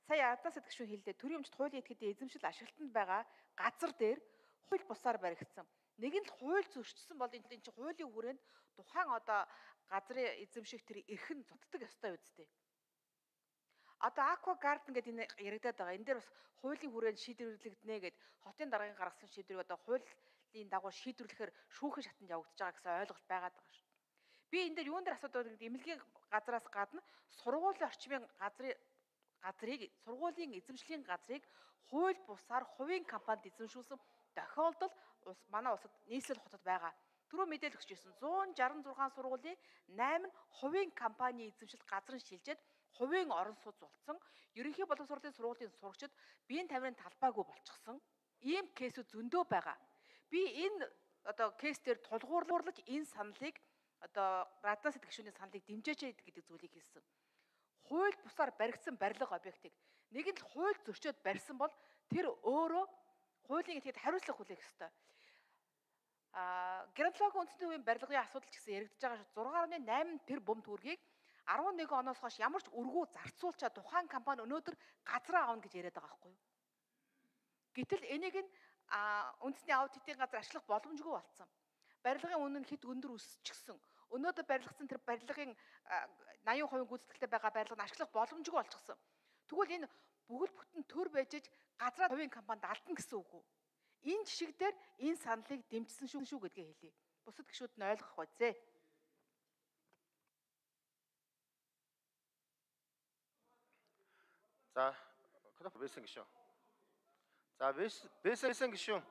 Сая Ардаас гишүүн хэллээ. Төрийн өмчт хуулийн этгээдийн эзэмшил ашиглалтанд байгаа газар дээр хууль бусаар баригдсан. Нэг нь л хууль зөрчсөн бол энэ чинь хуулийн хүрээнд тухайн одоо газрын эзэмших тэр эрхэн зодтдаг ёстой үстэй. Одоо Aqua Garden гэдэг энэ яригадаад байгаа. Энэ дээр бас хуулийн хүрээнд шийдвэрлэгдэнэ гэд хотын даргын гаргасан шийдвэрийг одоо хуулийн дагуу шийдвэрлэхээр шүүхийн шатанд явагдаж байгаа гэсэн ойлголт байгаад байгаа шүү. Би энэ дээр юун дээр асуудаг гэдэг эмнэлгийн газраас гадна сургуулийн орчмын сургуулийн эзэмшлийн газрыг хууль бусаар хувийн компанид эзэмшүүлсэн тохиолдол манай улсад нийслэл хотод байгаа. Түрүү мэдээлэл өгч ирсэн 166 сургуулийн 8 нь хувийн компани эзэмшил газрын шилжээд хувийн орон сууц болсон. Ерөнхий боловсролын сургуулийн сурагчид биеийн тамирын талбайгүй болчихсон. Ийм кейсүүд зөндөө байгаа. Би энэ одоо кейс дээр тулгуурлаж энэ саналыг одоо Раднаас гишүүний саналыг дэмжээч гэдэг зүйлийг хэлсэн. Хууль бусаар баригдсан барилга объектыг нэг нь хууль зөрчөөд барьсан бол тэр өөрөө хуулийн этгээд хариуцлага хүлээх ёстой. Геронтологийн үндэсний хувийн барилгын асуудал ч гэсэн яригдж байгаа шүү. 6.8 тэр бум төгрөгийг 11 оноос хойш ямар ч өргөө зарцуулчаа тухайн компани өнөөдөр газраа авна гэж яриад байгаа байхгүй юу? Гэтэл энийг нь үндэсний аудитын газар ашиглах боломжгүй болсон. Барилгын үнэ нь хэд өндөр өсчихсөн. Өнөөдөр барилгацсан тэр барилгын 80% гүйцэтгэлтэй байгаа барилгыг ашиглах боломжгүй болчихсон. Тэгвэл энэ бүгд бүтэн төр байж газраа хувийн компанид алдна гэсэн үг үү? Энэ жишг дээр энэ саналыг дэмжсэн шүү гэдгээ хэлье. Бусад гишүүд нь ойлгох байцээ. За, Бэсэн гишүүн. За, Бэсэн гишүүн.